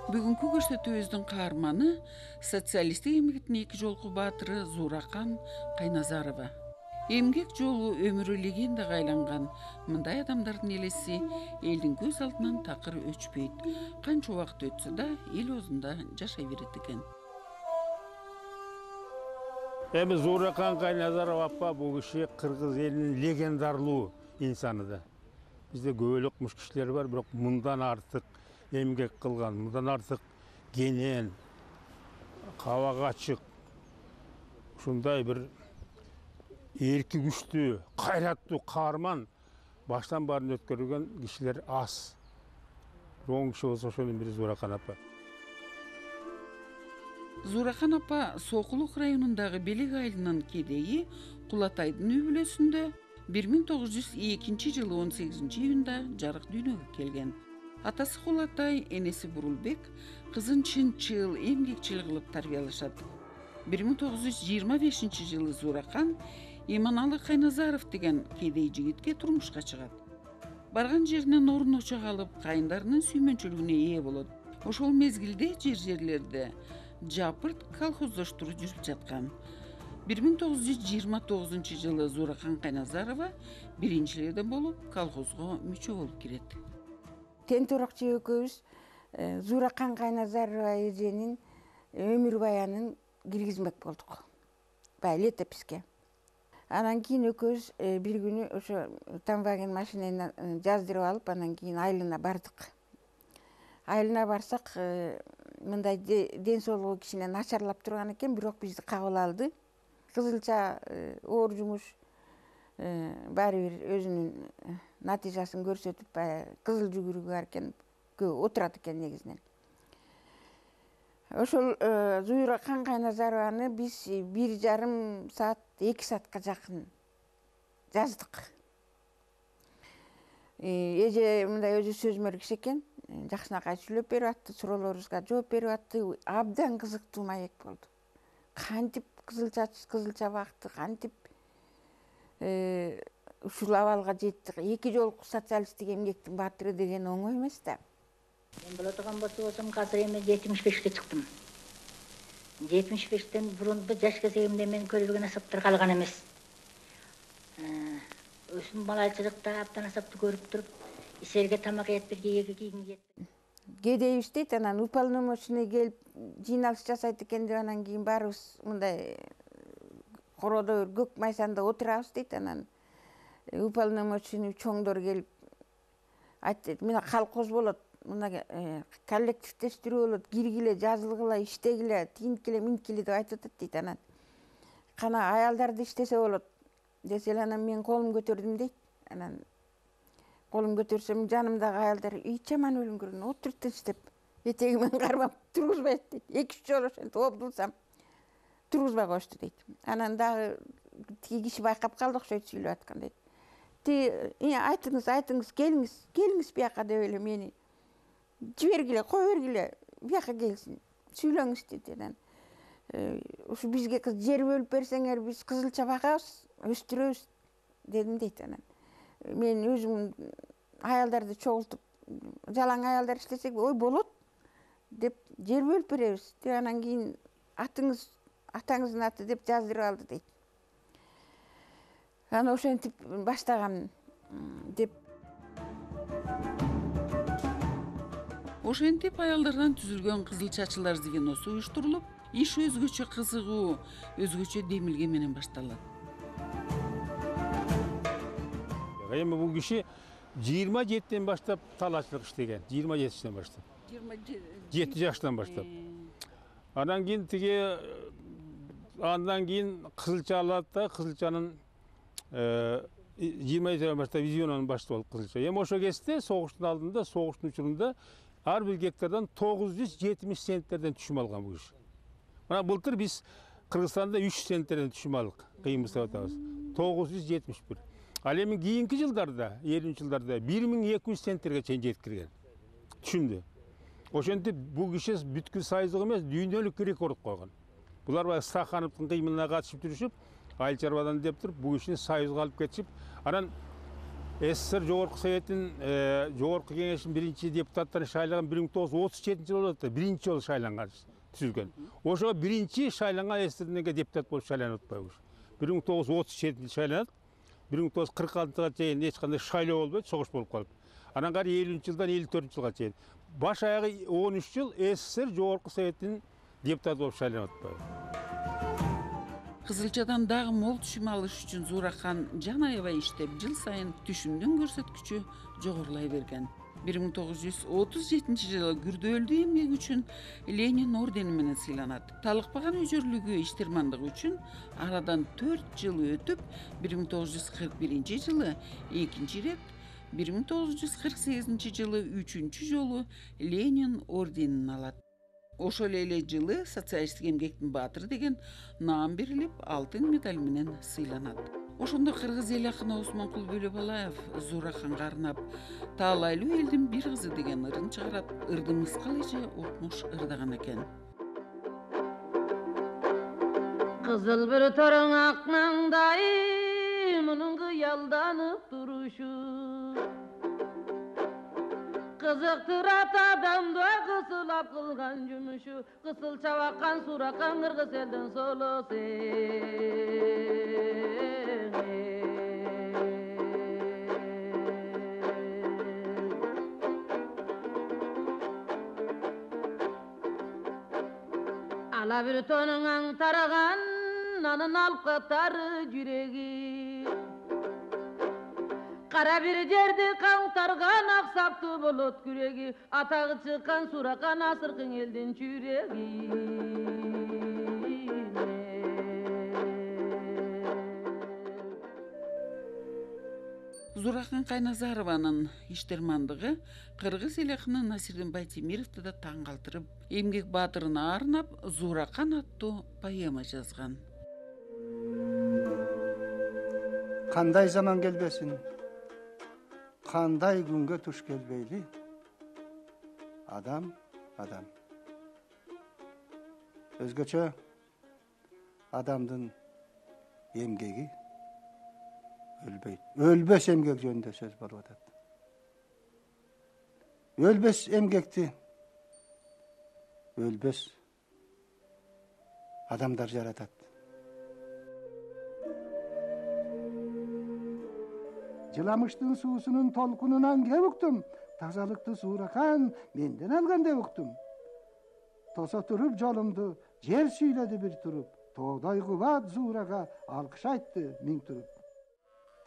Бүгүнкү көрсөтүүбүздүн каарманы социалисттик эмгектин эки жолку баатыры Зууракан Кайназарова. Эмгек жолу өмүрү легендаға айланган мындай адамдардын элеси элдин көз алдынан такыр өчпөйт. Канча убакыт өтсө да эл оозунда жашай берет экен. Эми Зууракан Кайназарова апа бул киши кыргыз элинин легендарлуу инсаны да. Бизде көп эле окмуш кишилер бар, бирок мындан артык эмгек кылган, мындан артык кенен, кабак ачык, ушундай бир эрки күчтүү, кайраттуу каарман баштан баарын өткөргөн кишилер аз. Оң киши болсо ошонун бири Зууракан апа. Зууракан апа Сокулук районундагы Белек айылынын кедейи Кулатайдын үй бүлөсүндө 1902 жылы 18-июнда жарык дүйнөгө келген. Атасы Кулатай, энеси Бурулбек кызын чынчыл, эмгекчил кылып тарбиялашат. 1925 жылы Зууракан Иманалы Кайназаров деген кедей жигитке турмушка чыгат. Барган жеринен орун очо калып, кайындарынын сүймөнчүлүгүнө ээ болот. Ошол мезгилде жерлерде жапырт колхоздоштуруу жүрүп жаткан. 1929 жылы Зууракан Кайназарова биринчилерден болуп колхозго мүчө болуп кирет. Тентуракчы экөөбүз Зууракан Кайназарова эженин өмүр баянын киргизмек болдук. Баягы летописке. Анан кийин экөөбүз бир күнү ошо тамбаген машинени жаздырып алып, анан кийин айылына бардык. Айылына барсак, мындай ден соолугу кичине начарлап турган экен, бирок бизди кабыл алды. Кызылча оор жумуш баары бир өзүнүн натыйжасын көрсөтүп, кызыл жүгүрүгү бар экен, отурат экен негизинен. Ошол Зууракан Кайназарованы биз 1,5 саат, 2 саатка жакын жаздык. Эже мындай өзү сөзмөр киши экен, жакшынакай сүйлөп берип атты, суроолорубузга жооп берип атты. Абдан кызыктуу маек болду. Кантип кызылча бакты, кантип ушул абалга жетти. Эки жолку социалисттик эмгектин баатыры деген оңой эмес да. Мен боло турган болсом, азыр эми 75ке чыктым. 75тен бурун жаш кезегимде мен көрбөгөн асаптар калган эмес. Өзүм балачылыкта абдан асапты көрүп туруп, исерге тамак этпир, кийге кийгим жетти. Кедейбиз дейт, анан уполномоченный келип жыйналыш жасайт экен деп, анан кийин баарыбыз мындай короодо көк майсанда отурабыз дейт. Анан уполномоченный чоңдор келип айтты, мына колхоз болот, мына коллективдештирүү болот, киргиле, жазылгыла, иштегиле, тигинткиле, минткиле деп айтып атат дейт. Анан кана аялдарды иштесе болот десе, анан мен колум көтөрдүм дейт. Анан колум көтөрсөм, жанымдагы аялдар жаман өлүңгөрүн, отур тынч деп, этегимен кармап тургузбайт дейт. 2-3 жолу ошентип обдулсам, тургузбай коюшту дейт. Анан дагы тиги киши байкап калды окшойт сүйлөп аткан дейт. Айтыңыз, келиңиз бияка деп эле мени жибергиле, кое бергиле, бияка келсин, сүйлөңүз дейт. Анан ушу бизге жер бөлүп берсеңер, биз кызылча багабыз, өстүрөбүз дедим дейт. Анан мен өзүм аялдарды чогултуп, жалаң аялдар иштесек, ой болот деп жер бөлүп беребиз деп, анан кийин атаңыздын аты деп жаздырып алды дейт. Анан ошентип баштаган деп. Ошентип аялдардан түзүлгөн Кызылчачылар звеносу уюштурулуп, иш өзгөчө кызыгуу, өзгөчө демилге менен башталат. Эми бул киши 27ден баштап талаачылык иштеген, 27 жаштан баштап. 7 жаштан баштап. Андан кийин кызылча алат да, кызылчанын 27 баштап визионун башчысы болуп кызылча. Эми ошо кезде согуштун алдында, согуштун учурунда ар бир гектардан 970 центтерден түшүм алган бул киши. Мына былтыр биз Кыргызстанда 3 центтерден түшүм алдык, кыйынбызда атабыз. 971. Ал эми кийинки жылдарда, 50 жылдарда 1200 центтерге чейин жетип кирген. Түшүмдү. Ошентип бул киши бүткүл союздук эмес, дүйнөлүк рекорд койгон. Булар баягы Стахановдун кыймылына катышып жүрүшүп, айыл чарбадан деп туруп, бул кишини союзга алып кетишип, анан СССР Жогорку Советтин Жогорку Кеңештин биринчи депутаттарын шайлаган 1937-жылы болот да, биринчи жолу шайланган түзүлгөн. Ошого биринчи шайланган СССРден депутат болуп шайланып атпайбы. 1937-жылы шайланат. 1946-га чейин эч кандай шайлоо болбойт, согуш болуп калып. Анан кары 50-жылдан 54-жылга чейин баш аягы 13 жыл СССР Жогорку Советтин депутаты болуп шайланып атпайбы. Кызылчадан дагы мол түшүм алыш үчүн Зуурахан жан аябай иштеп, жыл сайын түшүмдүн көрсөткүчү жогорулай берген. 1937-жылы күрдөөлдүү эмгеги үчүн Ленин ордени менен сыйланат. Талыкпаган өжөрлүгү, иштирмандыгы үчүн арадан 4 жыл өтүп, 1941-жылы экинчи ирет, 1948-жылы үчүнчү жолу Ленин орденин алат. Ошол эле жылы социалисттик эмгектин баатыры деген наам берилип, алтын медаль менен сыйланат. Ошондо кыргыз эл акыны Осмонкул Бөлөбалаев Зуураканга арнап таалайлуу элдин бир кызы деген ырын чыгарат. Ырды мыскал эже Окмуш ырдаган экен. Кызыл bir torun aknаңдай мунун кыялданып турушу кызыктырат адамды кысылап кылган жумушу кысыл чабаккан Зууракан кыргыз элдин солосу ала bir tonun taragan anın alıp katarı yüreği Kara bir жерди каңтарган аксаптуу болот күрөги атагы чыккан Зууракан асыркын элдин жүрөги Зууракан Кайназарованын иштирмандыгы кыргыз эл акыны Насирдин Байтемировду да таң калтырып, эмгек баатырына арнап Зууракан аттуу поэма жазган. Кандай заман келбесин, кандай күнгө туш келбейли, адам. Өзгөчө адамдын эмгеги өлбөйт. Өлбөс эмгек жөнүндө сөз болуп атат. Өлбөс эмгекти өлбөс адамдар жаратат. Жыламыштын суусунун толкунунан кеп уктум. Тазалыкты Зууракан менден алган деп уктум. Тосо туруп жолумду, жер сүйлөдү бир туруп. Тоодой кубат Зуурага алкыш айтты миң туруп.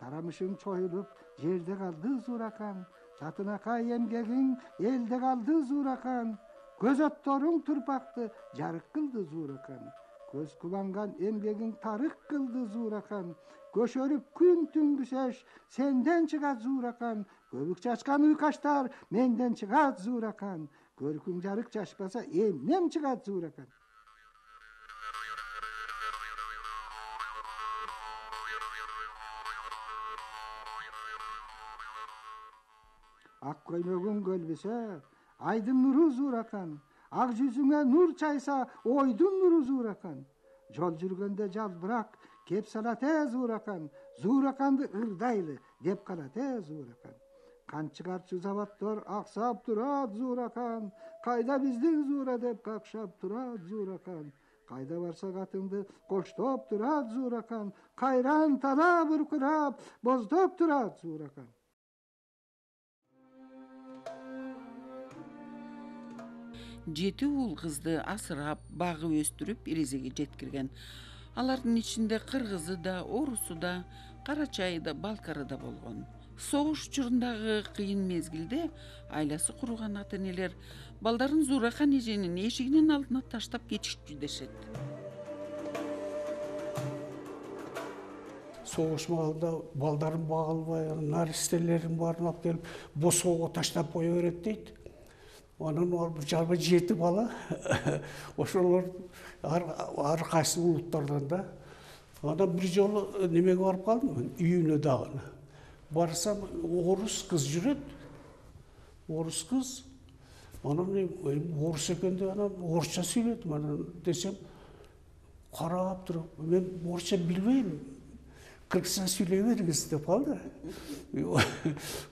Тарамышың чоюлуп, жерде калды Зууракан. Татынакай эмгегиң элде калды Зууракан. Көз отторуң турпакты жарык кылды Зууракан. Көз кубанган эмгегиң тарык кылды Зууракан. Көшөрүп күн түнгүсөш сенден чыгат Зууракан. Көбүк чачкан уйкаштар менден чыгат Зууракан. Көркүң жарык чачпаса эмнем чыгат Зууракан. Ак көймөгүң көлбөсө айдын нуру Зууракан. Ак жүзүңө нур чайса ойдун нуру Зууракан. Жол жүргөндө жалбырак кеп салат Зууракан. Зуураканды ырдайлы деп калат Зууракан. Кан чыгарчу заводдор аксап турат Зууракан. Кайда биздин Зуура деп какшап турат Зууракан. Кайда барсак атыңды коштоп турат Зууракан. Кайран тала буркурап боздоп турат Зууракан. Жети уул кызды асырап, багып өстүрүп эрезеге жеткирген. Алардын ичинде кыргызы да, орусу да, карачайы да, балкары да болгон. Согуш учурундагы кыйын мезгилде айласы куруган ата-энелер балдарын Зууракан эженин эшигинин алдына таштап кетишчү дешет. Согуш маалында балдарын бага албай, наристелерин баарын алып келип босоого таштап кое берет дейт. Анан жалпы 7 бала ошолор ар кайсы улуттардан да. Анан бир жолу немеге барып калдым, үйүнө дагы. Барсам орус кыз жүрөт. Орус кыз. Анан орус экен деп анан орусча сүйлөдүм. Анан десем карап туруп, мен орусча билбейм. кыргызча сүйлөй бериңиз деп калды.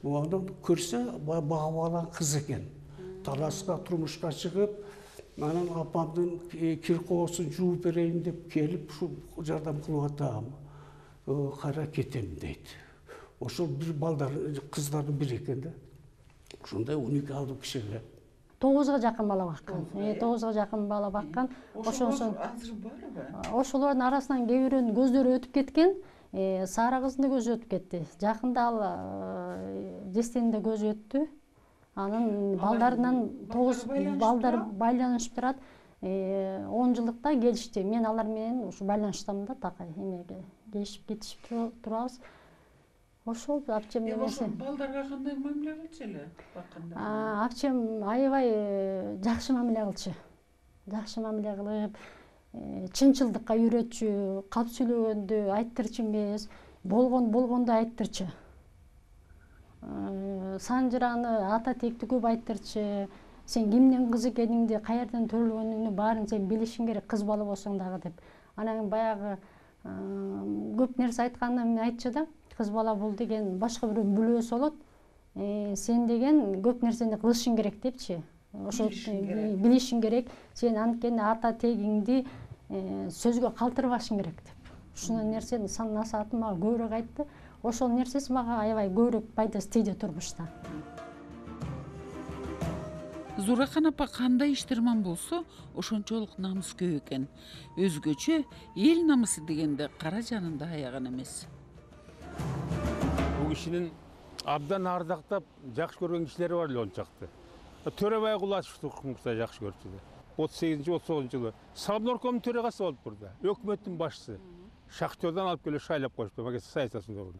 Анан көрсө багып алган кыз экен. Таласка турмушка чыгып, анан апамдын кир коосун жууп берейин деп келип, ушу жардам кылып атам. Кайра кетем дейт. Ошол бир балдар, кыздардын бири экен да. Ошондой 12 алып кишиге. 9га жакын бала баккан. 9га жакын бала баккан. Ошондо азыр барбы? Ошолордун арасынан кээ бирөөнүн көздөрү өтүп кеткен. Сара кыздын да көзү өтүп кетти. Жакында ал Жестинин да көзү өттү. Анын балдарынан 9 балдар байланышып турат. 10 жылдыкта келишти. Мен алар менен ушу байланыштамын да такай эмеге. Келишип кетишип турабыз. Ошол апчем эмеси. Балдарга кандай мамиле кылчу эле бакканда? Апчем аябай жакшы мамиле кылчу. Жакшы мамиле кылып, чынчылдыкка үйрөтчү, калп сүйлөгөндү айттырчу эмес, болгонду айттырчу. Санжыраны ата текти көп айттырчу. Сен кимдин кызы экениңди, каерден төрөлгөнүңдү баарын сен билишиң керек, кыз бала болсоң дагы деп. Анан баягы көп нерсе айткандан айтчу да. Кыз бала бул деген башка бирөөнүн бүлөөсү болот. Сен деген көп нерсени кылышың керек депчи. Ошо билишиң керек. Сен анткени ата тегиңди сөзгө калтырбашың керек деп. Ушундай нерсени насаатын мага көбүрөөк айтты. Ошол нерсеси мага аябай көбүрөөк пайдасы тийди турмушта. Зуракан апа кандай иштерман болсо, ошончолук намыскөй экен. Өзгөчө эл намысы дегенде кара жанында аяган эмес. Бул кишинин абдан ардактап жакшы көргөн кишилери бар эле ончакты. Төрөбай Кулачевди жакшы көрчү. 38-39 жылы Сабноркомдун төрагасы болуп турду. Өкмөттүн башчысы. Шахтерден алып келип шайлап коюшту, магистр саясатында болду.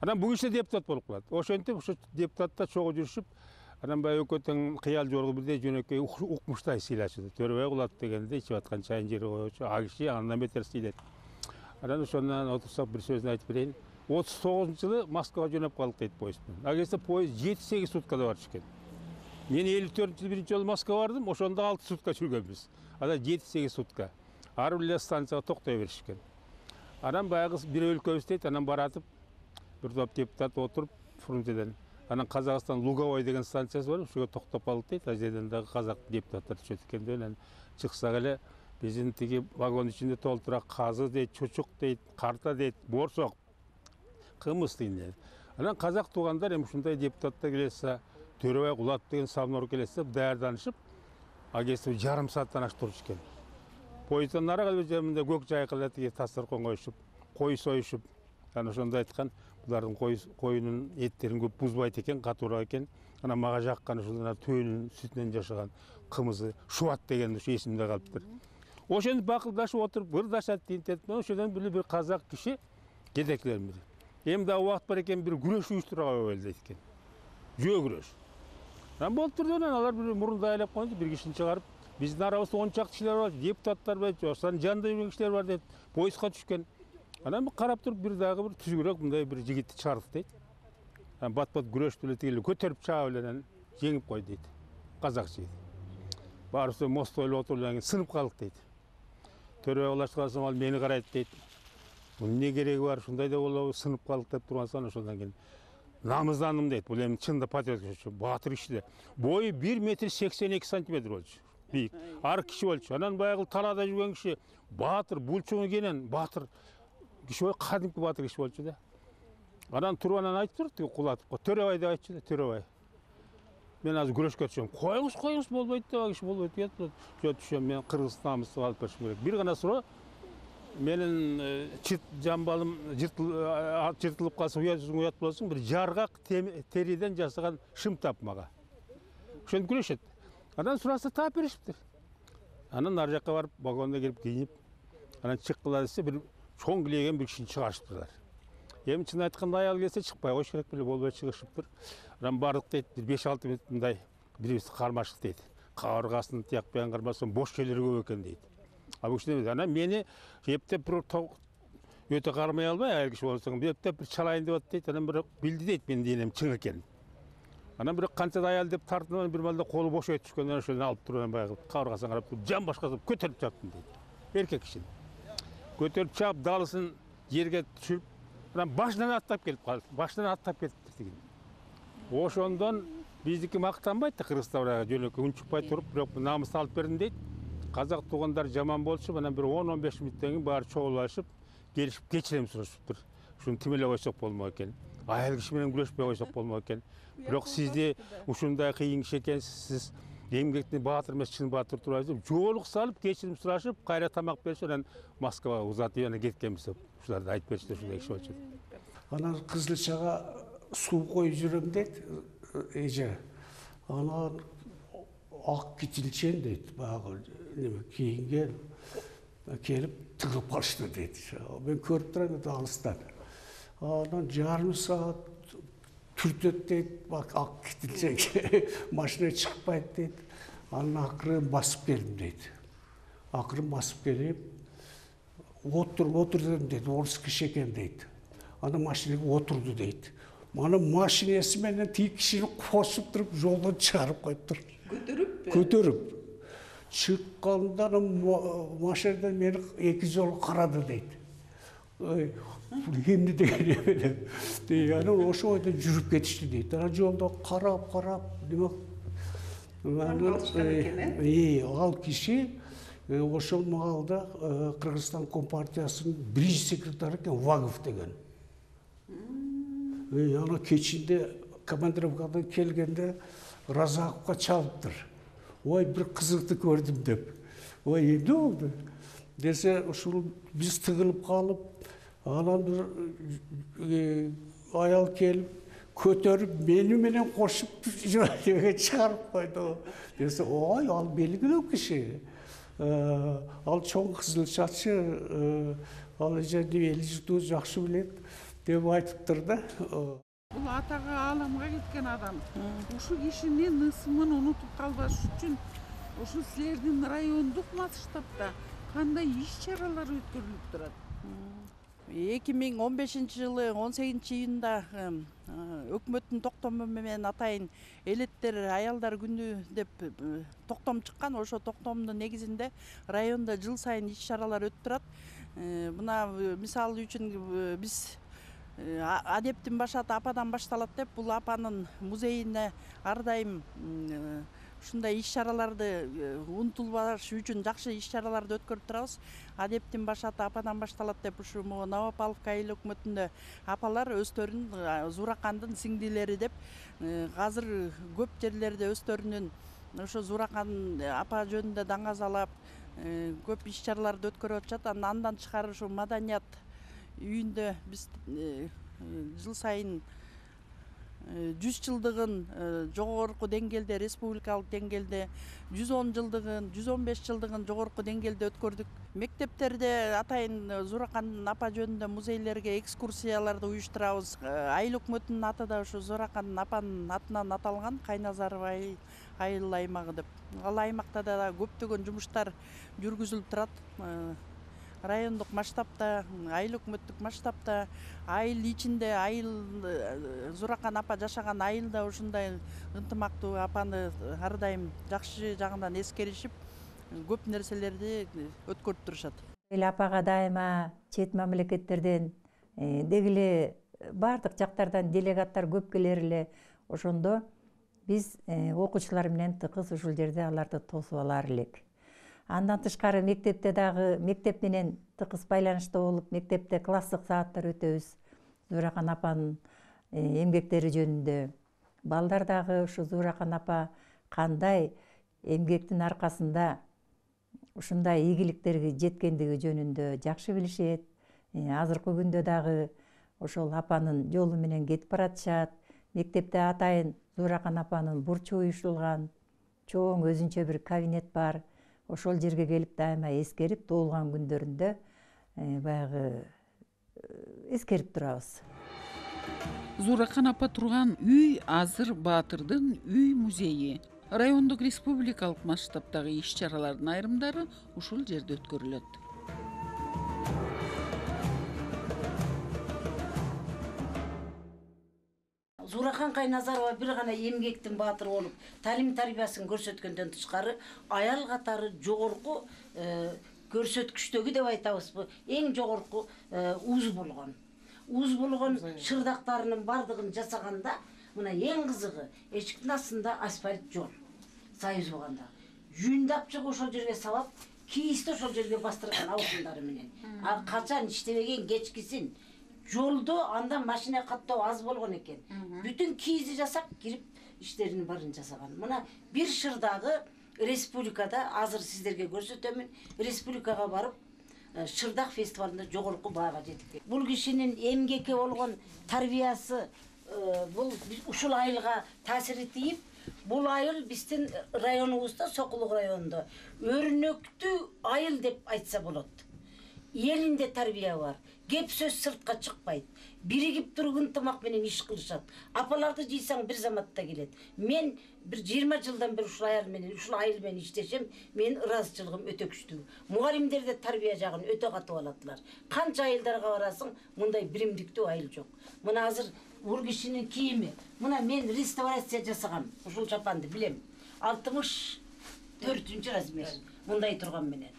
Анан бул киши депутат болуп калат. Ошентип ошо депутатта чогуу жүрүшүп, анан баягы өкөттүн кыял жоргу бирдей жөнөкөй укмуштай сыйлачу. Төрөбай Кулат дегенде ичип аткан чайын жери коючу, а киши андан бетер сыйлайт. Анан ошондон отурсак бир сөзүн айтып берейин. 39-жылы Москвага жөнөп калдык дейт поездден. Агese поезд 7-8 суткада барчу экен. Мен 54-жылы биринчи жолу Москвага бардым, ошондо 6 сутка жүргөнбүз. Ада 7-8 сутка. Ар бир станцияга токтой беришкен. Анан баягы бир өлкөбүз дейт, анан баратып бир топ депутат отуруп Фрунзеден. Анан Казакстан Луговой деген станциясы бар, ошого токтоп калдык дейт. Ал жерден дагы казак депутаттар түшөт экен деп, анан чыксак эле биздин тиги вагон ичинде толтура казы дейт, чучук дейт, карта дейт, борсок, кымыз дейт. Анан казак туугандар эми ушундай депутаттар келсе, Төрөбай Кулат деген Сабнор келсе, даярданышып, агеси жарым сааттан аш турчу экен. Поезддан нарага жеринде көк жайкалат тиги тасыркон коюшуп, кой союшуп, анан ошондо айткан, булардын коюнун эттерин көп бузбайт экен, катуураак экен. Анан мага жаккан ушул төөнүн сүтүнөн жашаган кымызы Шубат деген ушу эсимде калыптыр. Ошентип бакылдашып отуруп, ырдашат тинтет. Ошодон бир казак киши жетекчилердин бири. Эми да убакыт бар экен, бир күрөш уюштурууга болду дейт экен. Жөө күрөш. Анан болуп турду, анан алар бир мурунду айлап койду, бир кишини чыгарып, биздин арабызда 10 чакты кишилер бар, депутаттар бар, жошсан жанында жүргөн кишилер бар дейт. Поездга түшкөн. Анан карап туруп бир дагы бир түзүгүрөөк мындай бир жигитти чыгардык дейт. Анан бат-бат күрөштү эле тигил көтөрүп чаап эле анан жеңип койду дейт. Казак жигит. Баарыбыз мостто эле отуруп сынып калдык дейт. Төрөбай Кулач калсам ал мени карайт дейт. Бунун эмне кереги бар, ушундай да болобу, сынып калдык деп тургансан ошондон кийин намыздандым дейт. Бул эми чында патриот киши, баатыр киши. Бою 1 метр 82 сантиметр болчу. Бийик. Ар киши болчу. Анан баягы талаада жүргөн киши баатыр, булчуң экенин, баатыр киши ой кадимки баатыр киши болчу да. Анан туруп анан айтып турду, Кулатовго, Төрөбай деп айтчу да, Төрөбай. Мен азыр күрөшкө түшөм. Коюңуз болбойт да, киши болбойт деп. Жо түшөм, мен кыргыз намысты алып беришим керек. Бир гана суроо. Менин жамбалым жыртылып калса, уят болсоң, бир жаргак териден жасаган шым тап мага. Ошентип күрөшөт. Анан сураса таап беришиптир. Анан ар жакка барып, вагонго кирип кийинип, анан чыккыла десе, бир чоң килеген бир кишини чыгарышыптырлар. Эми чын айтканда аял келсе чыкпай коюш керек беле, болбой чыгышыптыр. Анан бардык дейт, бир 5-6 мүнөт мындай бирибизди кармашык дейт. Кабыргасын тиякпайан кармасам бош жерлер көп экен дейт. А бул киши анан мени эптеп бир өтө кармай албай, аял киши болсоң, эптеп бир чалайын деп атат дейт. Анан бир билди дейт, менин денем чың экенин. Анан бир канча аял деп тартынып, бир малда колу бош өтүп түшкөндөн ошону алып туруп, анан баягы кабыргасына карап, жан башкасы көтөрүп чаптым дейт. Эркек киши. Көтөрүп чап, далысын жерге түшүрүп, Мына башынан аттап келип калды. Башынан аттап кетиптир деген. Ошондон биздики мактанбайт да Кыргызстан жөнөкөй унчукпай туруп, бирок намыс алып бердим дейт. Казак туугандар жаман болчу, мына бир 10-15 мүнөттөн кийин баары чогулушуп, келишип кечирем сурашыптыр. Шуну тимелеп койсок болмок экен. Аял киши менен күрөшпөй койсок болмок экен. Бирок сизди ушундай кыйын киши экенсиз, сиз эмгектин баатыр эмес, чын баатыр турасыз деп жоолук салып, кечирим сурашып, кайра тамак беришип, анан Москвага узатып анан кеткенбиз деп ушуларды айтып беришти, ушундай киши болчу. Анан Кызылчага суу коюп жүрөм дейт, эже. Анан ак китилчен дейт, баягы неме кийинген келип тыгып калышты дейт. Мен көрүп турам дейт алыстан. Анан жарым саат түртөт дейт, ак китилчен машина чыкпайт дейт. Анан акырын басып келдим дейт. Акырын басып келип, отурдум дейт, орус киши экен дейт. Анан машинага отурду дейт. Мана машинеси менен тиги кишини косуп туруп жолдон чыгарып коюптур. Көтөрүп. Чыкканда машинадан мени 2 жолу карады дейт. Эмне деген эме. Анан ошо бойдон жүрүп кетишти дейт. Анан жолдо карап, демек ал киши ошол маалда Кыргызстан Компартиясынын биринчи секретары экен, Вагов деген. Ана кечинде командировкадан келгенде Разаковго чалыптыр. Ой, бир кызыкты көрдүм деп. Ой, эмне болду? Десе, ушул биз тыгылып калып, анан бир аял келип, көтөрүп, мени менен кошуп жөнөкөйгө чыгарып койду. Десе, ой, ал белгилүү киши. Ал чоң кызылчачы, ал эли жуту жакшы билет деп айтыптыр да. Бул атага ааламга кеткен адам. Ушул кишинин ысымын унутуп калбаш үчүн ушул силердин райондук масштабда кандай иш-чаралар өткөрүлүп турат? 2015-жылы 18-июнда өкмөттүн токтому менен атайын элеттер аялдар күнү деп токтом чыккан. Ошо токтомдун негизинде районда жыл сайын иш-чаралар өтүп турат. Мына мисалы үчүн биз адептин башаты ападан башталат деп, бул апанын музейине ар дайым ушундай иш-чараларды унутулбаш үчүн жакшы иш-чараларды өткөрүп турабыз. Адептин башаты ападан башталат деп ушу Новопавловка айыл өкмөтүндө апалар өздөрүн Зуракандын сиңдилери деп азыр көп жерлерде өздөрүнүн ошо Зуракан апа жөнүндө даңазалап көп иш-чараларды өткөрүп атышат. Андан тышкары ушу маданият үйүндө биз жыл сайын 100 жылдыгын жогорку деңгээлде, республикалык деңгээлде 110 жылдыгын, 115 жылдыгын жогорку деңгээлде өткөрдүк. Мектептерде атайын Зуракандын апа жөнүндө музейлерге экскурсияларды уюштурабыз. Айыл өкмөтүнүн аты да ушу Зуракандын апанын атынан аталган, Кайназарова айыл аймагы деп. Ал аймакта да көптөгөн жумуштар жүргүзүлүп турат. Райондук масштабта, айыл өкмөттүк масштабта, айыл ичинде, айыл Зуракан апа жашаган айылда ушундай ынтымактуу апаны ар дайым жакшы жагынан эскеришип, көп нерселерди өткөрүп турушат. Эл апага дайыма чет мамлекеттерден деги эле бардык жактардан делегаттар көп келер эле. Ошондо биз окуучулар менен тыкыз ушул жерде аларды тосуп алар элек. Андан тышкары мектепте дагы мектеп менен тыкыз байланышта болуп, мектепте класстык сааттар өтөбүз. Зуракан апанын эмгектери жөнүндө. Балдар дагы ушу Зуракан апа кандай эмгектин аркасында ушундай ийгиликтерге жеткендиги жөнүндө жакшы билишет. Азыркы күндө дагы ошол апанын жолу менен кетип баратышат. Мектепте атайын Зуракан апанын бурчу уюштурулган, чоң өзүнчө бир кабинет бар. Ошол жерге келип дайыма эскерип, тоолган күндөрүндө баягы эскерип турабыз. Зуракан апа турган үй азыр Баатырдын үй музейи. Райондук республикалык масштабдагы иш-чаралардын айрымдары ушул жерде өткөрүлөт. Зуракан Кайназарова бир гана эмгектин баатыры болуп, талим тарбиясын көрсөткөндөн тышкары аял катары жогорку көрсөткүчтөгү деп айтабызбы, эң жогорку уз болгон. уз болгон шырдактарынын бардыгын жасаганда мына эң кызыгы эшиктин астында асфальт жол союз болгондо жүйүндап чыгып ошол жерге салып кийизди ошол жерге бастырган аусундары менен. А качан иштебеген кечкисин жолдо анда машина каттоо аз болгон экен. Бүтүн кийизди жасап кирип иштеринин баарын жасаган. Мына бир шырдагы республикада азыр сиздерге көрсөтөмүн. Республикага барып шырдак фестивалында жогорку баага жетти. Бул кишинин эмгекке болгон тарбиясы бул ушул айылга таасири тийип, бул айыл биздин районубузда, Сокулук районунда өрнөктүү айыл деп айтса болот. Элинде тарбия бар. Кеп сөз сыртка чыкпайт. Биригип туруп ынтымак менен иш кылышат. Апаларды жыйсаң бир заматта келет. Мен бир 20 жылдан бери ушул айыл менен иштешем. Менин ыраазычылыгым өтө күчтүү. Мугалимдерде тарбия жагын өтө катуу алатылар. Канча айылдарга барасың, мындай биримдиктүү айыл жок. Мына азыр бул кишинин кийими. Мына мен реставрация жасагам. Ушул чапанды билем. 64-ч размер. Мындай турган менен.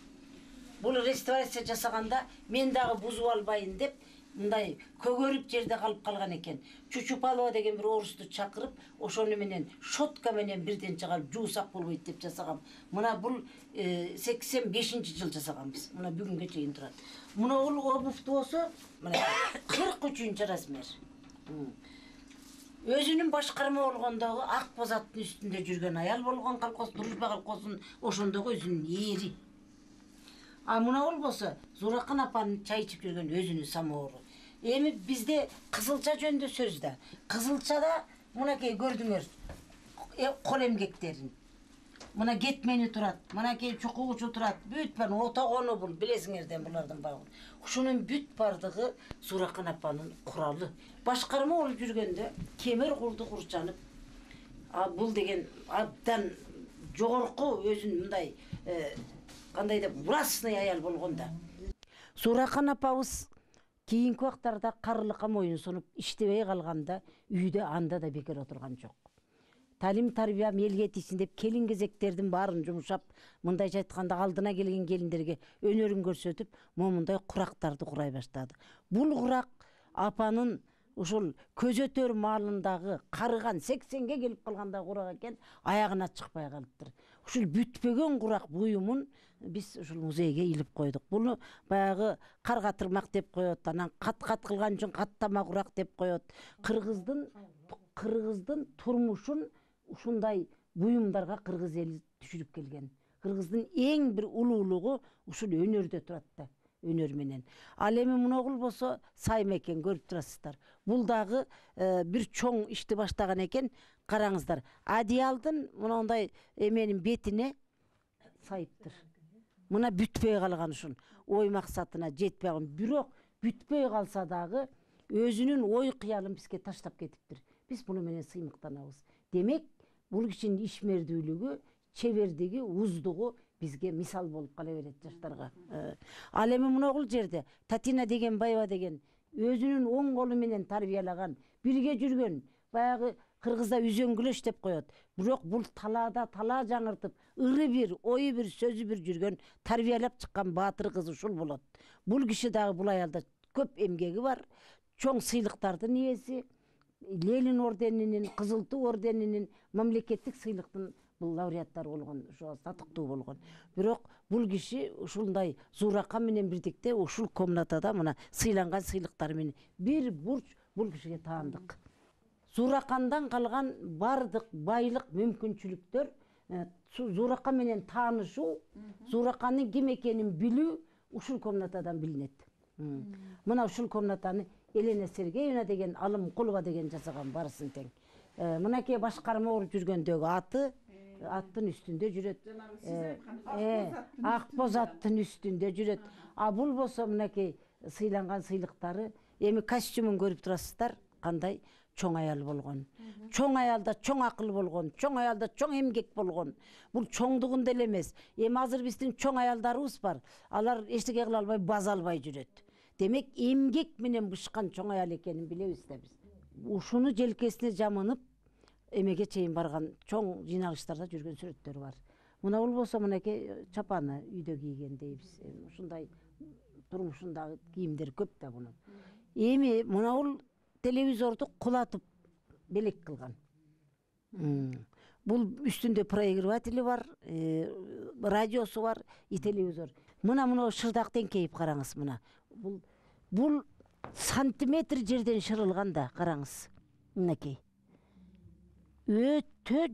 Бул реставрация жасаганда мен дагы бузуп албайын деп мындай көгөрүп жерде калып калган экен. Чучупалова деген бир орусту чакырып, ошону менен шотка менен бирден чыгарып жуусак болбойт деп жасагам. Мына бул 85-жыл жасаганбыз. Мына бүгүнгө чейин турат. Мына бул обувду болсо, мына 43-ч размер. Өзүнүн башкарма болгондогу ак боз аттын үстүндө жүргөн аял болгон колхоз, Дружба колхозунун ошондогу өзүнүн эри. А мына болбосо Зуракан апанын чай ичип жүргөн өзүнүн самоору. Эми бизде кызылча жөнүндө сөз да. Кызылчада мынакей көрдүңөр кол эмгектерин. Мына кетмени турат, мынакей чукуучу турат, бүт бар отогону бул билесиңерден булардын баарын. Ушунун бүт бардыгы Зуракан апанын куралы. Башкарма болуп жүргөндө кемер курду курчанып, бул деген абдан жогорку өзүн мындай кандай деп властный аял болгонда. Зуракан апабыз кийинки убактарда карылыкка моюн сунуп иштебей калганда үйдө анда да бекер отурган жок. Талим тарбия элге тийсин деп келин кезектердин баарын жумшап, мындайча айтканда алдына келген келиндерге өнөрүн көрсөтүп, момундай курактарды курай баштады. Бул курак апанын ушул көзөтөр маалындагы карыган 80ге келип калганда курак экен, аягына чыкпай калыптыр. Ушул бүтпөгөн курак буюмун биз ушул музейге илип койдук. Буну баягы карга тырмак деп коет, анан кат-кат кылган үчүн каттама курак деп коет. Кыргыздын турмушун ушундай буюмдарга кыргыз эли түшүрүп келген. Кыргыздын эң бир улуулугу ушул өнөрдө турат да, өнөр менен. Ал эми муногул болсо сайма экен, көрүп турасыздар. Бул дагы бир чоң ишти баштаган экен. Караңыздар, одеялдын мындай эменин бетине сайыптыр. Мына бүтпөй калган ушун, ой максатына жетпей калган. Бирок бүтпөй калса дагы өзүнүн ой кыялын бизге таштап кетиптир. Биз буну менен сыймыктанабыз. Демек, бул кишинин ишмердүүлүгү, чебердиги, уздугу бизге мисал болуп кала берет жаштарга. Ал эми муногул жерде Татина деген байба деген өзүнүн оң колу менен тарбиялаган, бирге жүргөн, баягы кыргызда үзөңгүлөш деп коет. Бирок бул талаада талаа жаңыртып, ыры бир, ою бир, сөзү бир жүргөн, тарбиялап чыккан баатыр кыз ушул болот. Бул киши дагы бул аялда көп эмгеги бар, чоң сыйлыктардын ээси, Ленин орденинин, Кызыл Туу орденинин, мамлекеттик сыйлыктын бул лауреаттары болгон, ошо татыктуу болгон. Бирок бул киши ушундай Зуракан менен бирдикте ушул комнатада мына сыйланган сыйлыктары менен бир бурч бул кишиге таандык. Зуракандан калган бардык байлык, мүмкүнчүлүктөр, Зуракан менен таанышуу, Зуракандын ким экенин билүү ушул комнатадан билинет. Мына ушул комнатаны Елена Сергеевна деген, Алымкулова деген жасаган барысын тең. Мынакей башкарма болуп жүргөндөгү аттын үстүндө жүрөт. Ак боз аттын үстүндө жүрөт. А бул болсо мынакей сыйланган сыйлыктары, эми костюмун көрүп турасыздар, кандай чоң аял болгон. Чоң аялда чоң акыл болгон, чоң аялда чоң эмгек болгон. Бул чоңдугунда эле эмес. Эми азыр биздин чоң аялдарыбыз бар. Алар эчтеке кыла албай, база албай жүрөт. Демек, эмгек менен бышкан чоң аял экенин билебиз да биз. Ушуну желкесине жамынып, эмеге чейин барган чоң жыйналыштарда жүргөн сүрөттөр бар. Мына бул болсо мынакей чапаны үйдө кийген дейбиз. Ушундай турмушундагы кийимдер көп да бунун. эми мынабул телевизорду кулатып белек кылган. Бул үстүндө проигрыватели бар, радиосу бар, и телевизор. Мына шырдак теңкейип караңыз мына. Бул сантиметр жерден шырылган да, караңыз. Мынакей. Өтө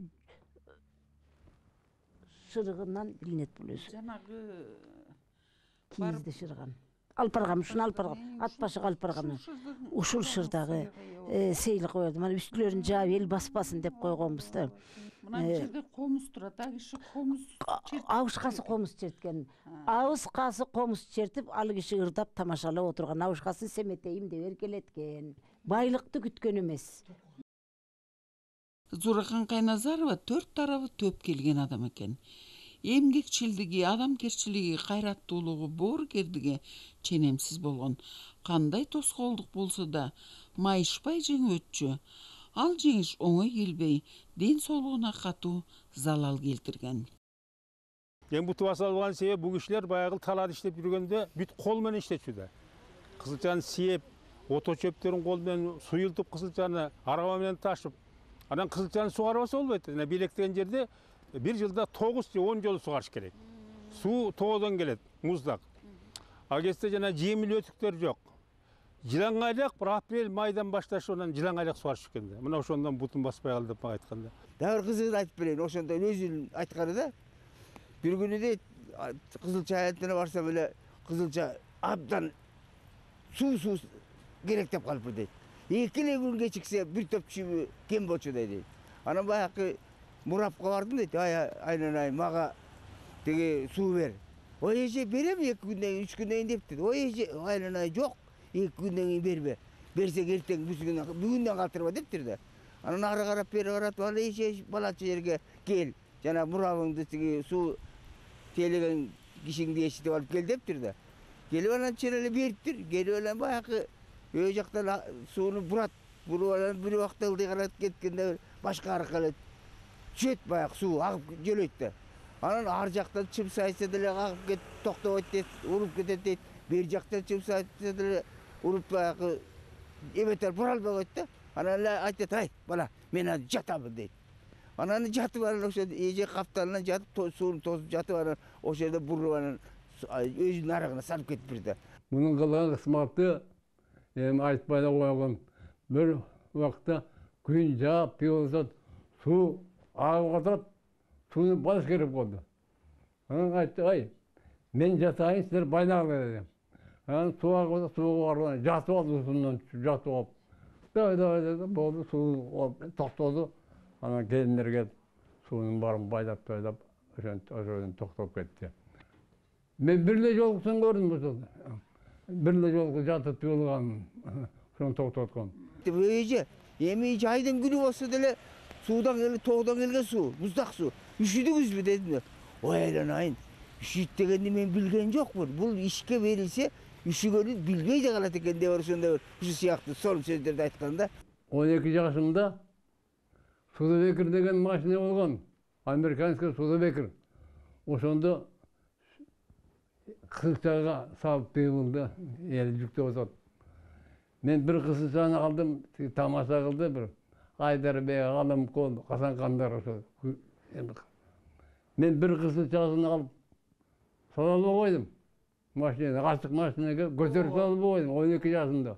шырыгынан билинет бул өзү. Жанагы кийизде шырыган. Алпаргам, ушуну алпаргам, ат башыга алпаргам. Ушул шырдагы сейил коёду. Мына үстүлөрүн жаап эл баспасын деп койгонбуз да. Мына жерде комуз турат, а киши комуз Абышкасы комуз черткен. Абышкасы комуз чертип, ал киши ырдап тамашалап отурган. Абышкасы семетейим деп эркелеткен. Байлыкты күткөн эмес. Зууракан Кайназарова 4 тарабы төп келген адам экен. Эмгекчилдиги, адамкерчилиги, кайраттуулугу, боорукердиги ченемсиз болгон. Кандай тоскоолдук болсо да майышпай жеңип өтчү. Ал жеңиш оңой келбей, ден соолугуна катуу залал келтирген. Эми бутуп асалган себеп бул кишилер баягы талаада иштеп жүргөндө бүт кол менен иштечү да. Кызылчаны сээп, ото чөптөрүн кол менен суюлтуп, кызылчаны араба менен ташып, анан кызылчаны сугарбаса болбойт. Белектеген жерде bir жылда 9 же 10 жолу сугарыш керек. Суу тоодон келет, муздак. Ал кезде жана жемил өтүктөр жок. Жылаңайлак bir апрель майдан башташып, анан жылаңайлак сугарышып экен да. Мына ошондон бутун баспай калды деп мага айтканда. Дагы кызыгын айтып берейин, ошондон өзүнүн айтканы да. Бир күнү дейт, кызылча аянтына барсам эле кызылча абдан суу керек деп калыппы дейт. Экиле күн кечиксе бир топ чүйбү кем болчу дейт. Анан баягы мурапка бардым дейт, айнанай мага теге суу бер. Ой эже берем 2 күндөн кийин, 3 күндөн кийин дептир. Ой эже айнанай жок, 2 күндөн кийин бербе. Берсең эртең бүгүндөн калтырба дептир да. Анан ары карап бери карап, ал эже балачы жерге кел, жана мурабыңды теге суу тейлеген кишиңди эшитип алып кел дептир да. Келип анан чын эле бериптир. Келип анан баягы өө жактан сууну бурат. Буруп анан бир убакта ылдый карап кеткенде башка аракка эле чөт баягы суу агып жөлөйт да. Анан ар жактан чым сайса деле агып кетип токтобойт дейт, уруп кетет дейт. Бер жактан чым сайса деле уруп баягы эметер бура албай койт да. Анан эле айтат, ай бала, мен азыр жатамын дейт. Анан жатып анан ошо эже капталынан жатып, сууну тосуп жатып анан ошол жерде буруп анан өзүнүн арагына салып кетиптир да. Мунун кылган кызматы эми айтпай да койгон. Бир убакта күн жаап, пиозот суу агып атат, сууну баш керек болду. Анан айтты, ай, мен жатайын, силер байнагыла дедим. Анан суу агып, сууга барып, жатып алды, суунан жатып алып. Давай деди, болду, суу токтоду. Анан келиндер келип, суунун баарын байлап, ошодон токтоп кетти. Мен бир эле жолкусун көрдүм ошол. Бир эле жолку жатып туулган, ошону токтоткон. Эже, эми жайдын күнү болсо деле суудан келип, тоодон келген суу, муздак суу. Üşüdүңүзбү дедим. Ой айланайын, üşüйт дегенди мен билген жокмун. Бул ишке берилсе, üşүгөнү билбей да калат экен деп ошондой ушул сыяктуу сонун сөздөрдү айтканда. 12 жашымда Судебекер деген машина болгон. Американский Судебекер. Ошондо кызылчага салып быйылда эл жүктөп атат. Мен бир кызылчаны алдым, тамаша кылды бир. Айдарбек, Аламкол, Касанкандар ошо. Мен бир кызылчасын алып салып койдум. Машина, ачык машинага көтөрүп салып койдум 12 жашымда.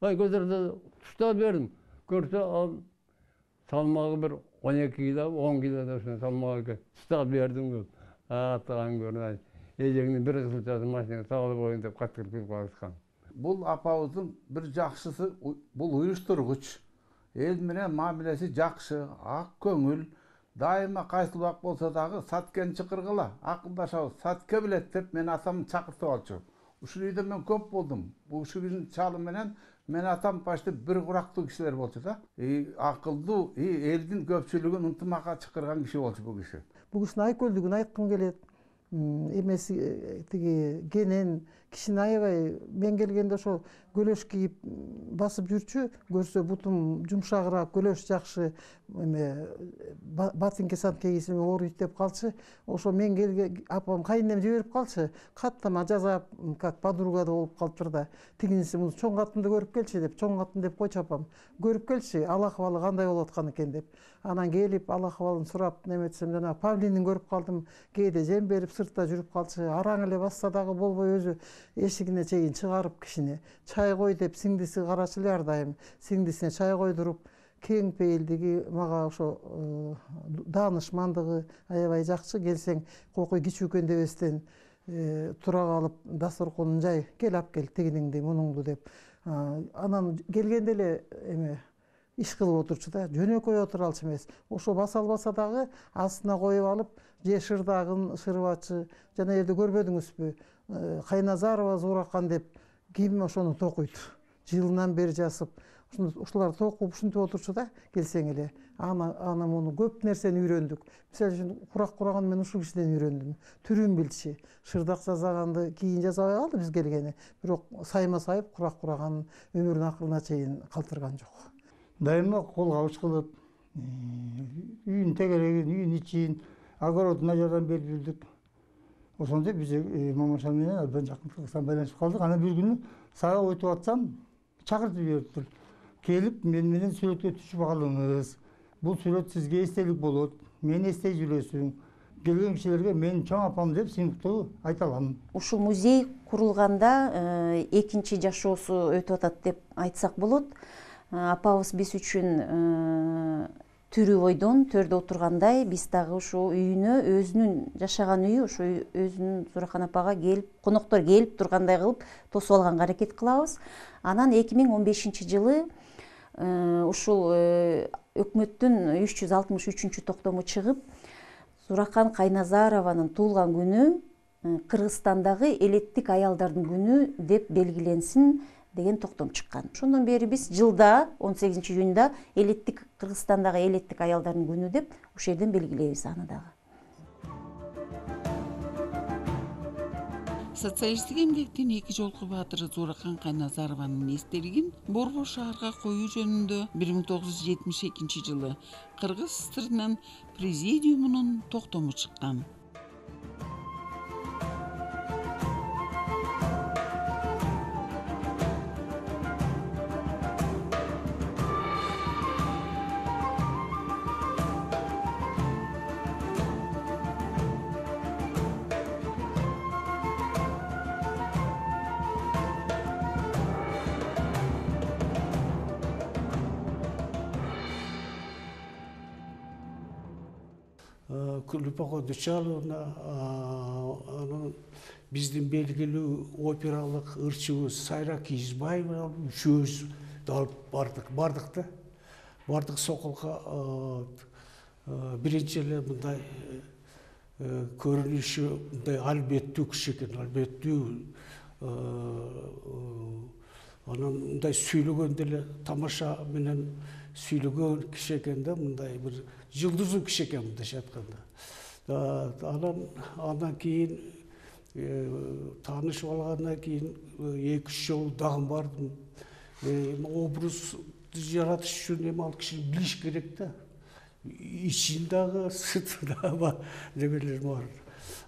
Ай көтөрүп туштап бердим. Көрсө ал салмагы бир 12 кило, 10 кило да ошо салмагы туштап бердим. Атаган көрүнөт. Эжеңдин бир кызылчасын машинага салып коюн деп каттырып калышкан. Бул апабыздын бир жакшысы, бул уюштургуч. Эл менен мамилеси жакшы, ак көңүл, дайыма кайсы убак болсо дагы саткен чакыргыла, акылдашабыз, сатке билет деп мен атамды чакыртып алчу. Ушул үйдө мен көп болдум. Бул кишинин чалы менен мен атам почти бир курактуу кишилер болчу да. Акылдуу, элдин көпчүлүгүн ынтымакка чакырган киши болчу бул киши. Бул кишинин айкөлдүгүн айткым келет. Эмеси тиги кишини аябай мен келгенде ошо көлөш кийип басып жүрчү, көрсө бутум жумшагыраак, көлөш жакшы эме ботинке санке кийсем ооруйт деп калчы. Ошо мен келген апам кайынем жиберип калчы, каттама жазап, как подруга да болуп калыптыр да. Тигиниси муну чоң катынды көрүп келчи деп, чоң катын деп койчу апам. Көрүп келчи, ал акыбалы кандай болуп аткан экен деп. Анан келип ал акыбалын сурап неметсем, жана павлинин көрүп калдым. Кээде жем берип сыртта жүрүп калчы. Араң эле басса дагы болбой өзү эшигине чейин чыгарып кишини. Чай кой деп сиңдиси карачу эле ар дайым. Сиңдисине чай койдуруп, кең пейилдиги, мага ошо даанышмандыгы аябай жакшы. Келсең кокуй кичүү экен дебестен тура калып дасторконун жай, кел алып кел тигиниңди, мунуңду деп. Анан келгенде эле эме иш кылып отурчу да, жөнөкөй отура алчу эмес. Ошо баса албаса дагы астына коюп алып, же шырдагын шырбачы, жана жерде көрбөдүңүзбү, Кайназарова Зууракан деп ким ошону токуйт. Жылынан бери жасып, ушулар токуп ушинтип отурчу да, келсең эле. Аны муну көп нерсени үйрөндүк. Мисалы үчүн курак кураган мен ушул кишиден үйрөндүм. Түрүн билчи. Шырдак жасаганды кийин жасабай калды биз келгени. Бирок сайма сайып курак кураганын өмүрүнүн акырына чейин калтырган жок. Дайыма кол кабыш кылып, үйүн тегерегин, үйүн ичин, огородуна жардам берип жүрдүк. Ошондо биз Мамашан менен абдан жакын Кыргызстан байланышып калдык. Анан бир күнү сага өтүп атсам, чакыртып жибериптир. Келип мен менен сүрөткө түшүп алыңыз. Бул сүрөт сизге эстелик болот. Мени эстей жүрөсүң. Келген кишилерге мен чоң апам деп сыймыктуу айта алам. Ушул музей курулганда экинчи жашоосу өтүп атат деп айтсак болот. Апабыз биз үчүн түрү бойдон төрдө отургандай, биз дагы ушул үйүнө, өзүнүн жашаган үйү, ушу өзүнүн Зууракан апага келип, коноктор келип тургандай кылып тосуп алганга аракет кылабыз. Анан 2015-жылы ушул өкмөттүн 363 токтому чыгып, Зууракан Кайназарованын туулган күнү Кыргызстандагы элеттик аялдардын күнү деп белгиленсин деген токтом чыккан. Ошондон бери биз жылда 18-июнда элеттик Кыргызстандагы элеттик аялдардын күнү деп ушул жерден белгилейбиз аны дагы. Социалисттик эмгектин эки жолку баатыры Зууракан Кайназарованын эстелигин Борбор шаарга коюу жөнүндө 1972-жылы Кыргыз ССРнын президиумунун токтому чыккан. Любовь Дучаловна, анан биздин белгилүү опералык ырчыбыз Сайра Кийизбаева үчөөбүз бардык да. Бардык Соколго биринчи эле мындай көрүнүшү мындай албеттүү киши экен, албеттүү. Анан мындай сүйлөгөндө эле тамаша менен сүйлөгөн киши экен да, мындай бир жылдыздуу киши экен мындайча айтканда. Андан кийин таанышып алгандан кийин 2-3 жолу дагы бардым. Образ жаратыш үчүн эми ал кишини билиш керек да. Ичин дагы, сырты дагы немелер бар.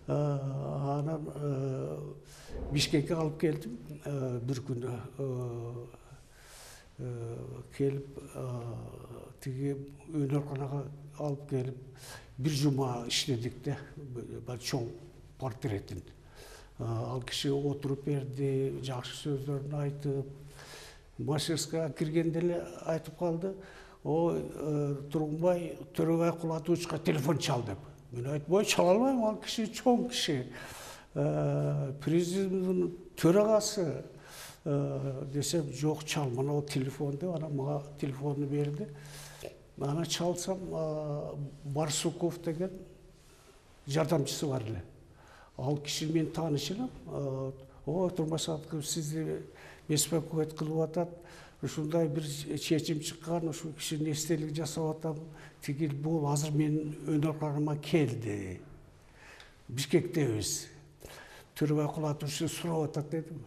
Анан Бишкекке алып келдим бир күнү. Келип тиги өнөрканага алып келип бир жума иштедик да, чоң портретин. Ал киши отуруп берди, жакшы сөздөрүн айтып, мастерская киргенде эле айтып калды: "Ой, Тургунбай, Төрөбай Кулатовичка телефон чал" деп. Мен айттым: "Ой, чала албайм, ал киши чоң киши. Президенттин төрагасы" десем, "Жок, чал, мына телефон" деп, анан мага телефонду берди. Аны чалсам, Барсуков деген жардамчысы бар эле. Ал киши мен тааныш элем. "Ой, Турмасатов, сизди беспокоить кылып атат. Ушундай бир чечим чыккан, ушул кишинин эстелик жасап атам. Тигил бул азыр менин өнөр карарыма келди. Бишкектебиз. Төрөбай кулатуучу сурап атат дедим.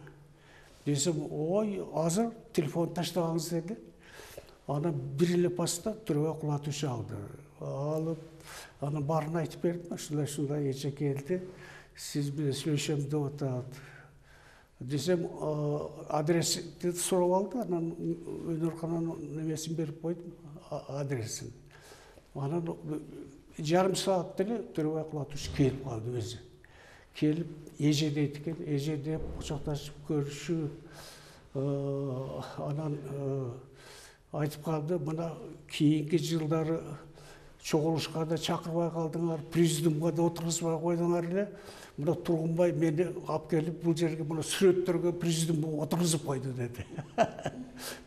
Десем, ой, азыр телефон таштабаңыз деди. Ана бир эле паста Төрөбай кулатуучу алды. Алып, аны баарын айтып бердим. Ушундай эже келди. Сиз менен сүйлөшөм деп атат. Десем, адрести сурап алды. Анан өнөркананын немесин берип койдум, адресин. Анан жарым саат деле Төрөбай кулатуучу келип калды өзү. Келип, эже дейт экен, эже деп кучакташып көрүшүп, анан айтып калды, мына кийинки жылдары чогулушка да чакырбай калдыңар, президиумга да отургузбай койдуңар эле. Мына Тургунбай мени алып келип бул жерге мына сүрөттөргө президиумга отургузуп койду деди.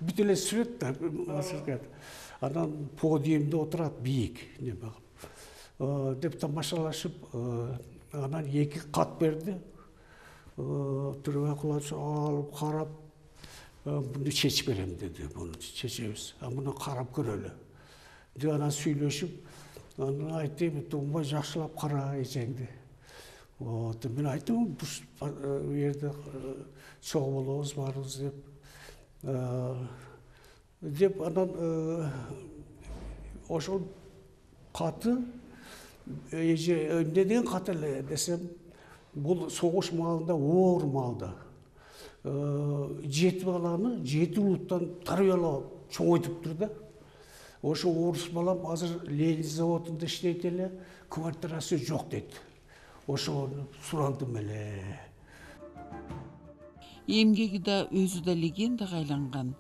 Бүт эле сүрөт да. Анан подиумда отурат бийик неме кылып. Деп тамашалашып, анан 2 кат берди. Төрөбай кулатуучу алып карап, буну чечип берем деди. Буну чечебиз. Муну карап көрөлү. Деп анан сүйлөшүп, анан айттым, Тургунбай жакшылап кара эжеңди. Мен айттым, бул жерде чогуу болобуз, барыбыз деп анан ошол каты эже эмне деген кат эле десем, бул согуш маалында оор маалда 7 баланы 7 улуттан тарбиялап чоңойтуптур да. Ошо орус балам азыр Ленин заводунда иштейт эле, квартирасы жок дейт. Ошону сурандым эле. Эмгеги да өзү да легендага айланган.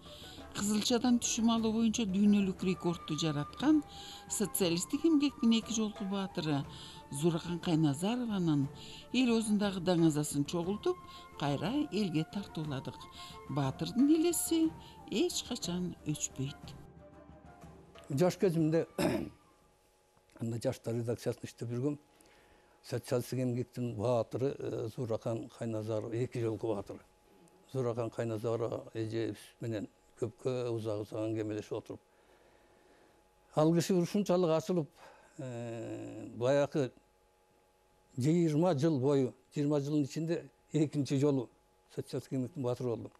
Кызылчадан түшүм алуу боюнча дүйнөлүк рекордду жараткан социалисттик эмгектин 2 жолку баатыры Зуракан Кайназарованын эл оозундагы даңазасын чогултуп, кайра элге тартууладык. Баатырдын элеси эч качан өчпөйт. Жаш кезимде анда жаштар редакциясында иштеп жүргөм. Социалисттик эмгектин баатыры Зуракан Кайназаров 2 жолку баатыры. Зуракан Кайназаров эже менен көпкө узак аңгемелешип отуруп. Ал киши ушунчалык ачылып, баягы 20 жыл бою, 20 жылдын ичинде 2-нчи жолу социалисттик эмгектин баатыры болду.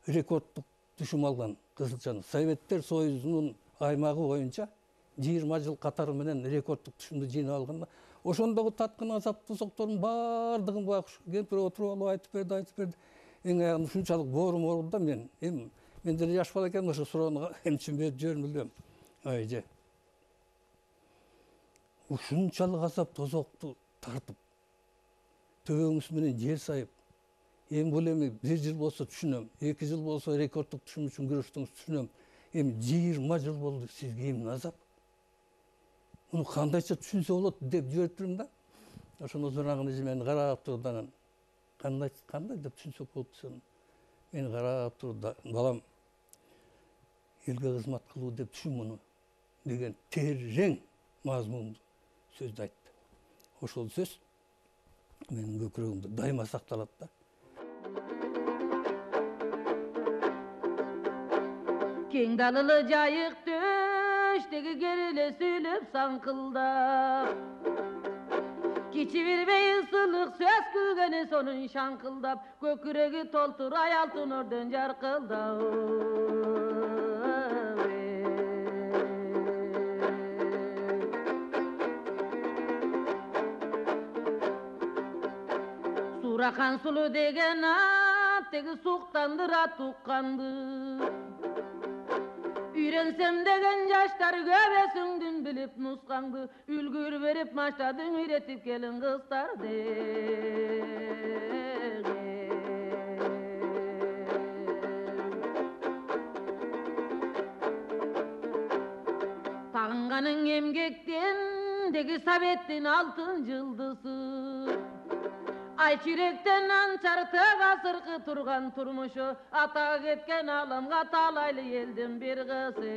Рекорддук түшүм алган Кызылчаны. Советтер Союзунун аймагы боюнча 20 жыл катары менен рекорддук түшүмдү жыйнап алганда, ошондогу таткан азап тозоктордун баардыгын баягы кемпир отуруп алып айтып берди. Эң аягында ушунчалык боорум болду да мен деле жаш бала экенмин, ошо суроону эмчим берип жибердим элем. Эже. Ушунчалык азап тозокту тартып, төбөңүз менен жер сайып, эми бул 1 жыл болсо түшүнөм, 2 жыл болсо рекорддук түшүм үчүн күрөштүңүз түшүнөм. Эми 20 жыл болду сизге эмне азап? Муну кандайча түшүнсө болот деп жиберип турдум да. Ошондо Зуракан эже мени карап турду, анан кандай деп түшүнсөк болот десем, мени карап турду, балам, элге кызмат кылуу деп түшүн муну деген терең мазмундуу сөздү айтты. Ошол сөз менин көкүрөгүмдө дайыма сакталат да. Кең далылы жайык төштөгү кериле сүйлөп саңкылдап, кичи билбей ысылык сөз күлгөнү сонун шаңкылдап, көкүрөгү толтурай алтын ордон жаркылдап. Зуракан сулуу деген ат теги суктандыра тукканды. Үйренсем деген жаштар көбөсүңдүн билип нускаңды, үлгүр берип маштадың үйретип келин кыздарды. Тагынганың эмгектен деги советтин алтын жылдызы. Ай чиректен анчарты асыркы турган турмушу, ата кеткен аламга талайлы элдин бир кызы.